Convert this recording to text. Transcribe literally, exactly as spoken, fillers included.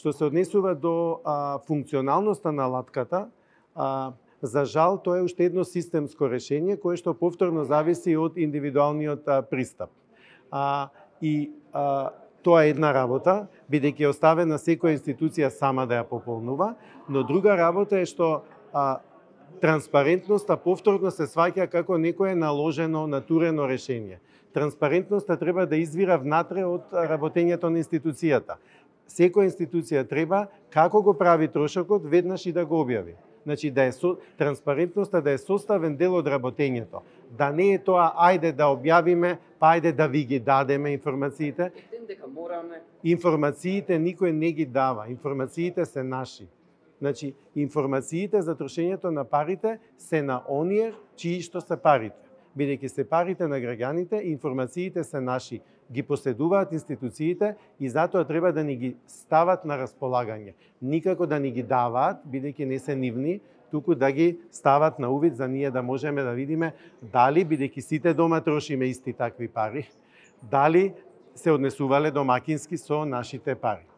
Што се однесува до а, функционалноста на латката, а, за жал, тоа е уште едно системско решение кое што повторно зависи од индивидуалниот а, пристап. А, и а, тоа е една работа, бидејќи е оставена секоја институција сама да ја пополнува, но друга работа е што а, транспарентноста повторно се сваќа како некое наложено, натурено решение. Транспарентноста треба да извира внатре од работењето на институцијата. Секоја институција треба, како го прави трошокот, веднаш и да го објави. Значи, да е со, транспарентноста да е составен дел од работењето. Да не е тоа, ајде да објавиме, па ајде да ви ги дадеме информациите. Дека мораме. Информациите никој не ги дава. Информациите се наши. Значи, информациите за трошењето на парите се на оние чии што се парите. Бидејќи се парите на граѓаните, информациите се наши. Ги поседуваат институциите и затоа треба да ни ги стават на располагање. Никако да ни ги даваат, бидејќи не се нивни, туку да ги стават на увид за ние да можеме да видиме дали, бидејќи сите дома трошиме исти такви пари, дали се однесувале домакински со нашите пари.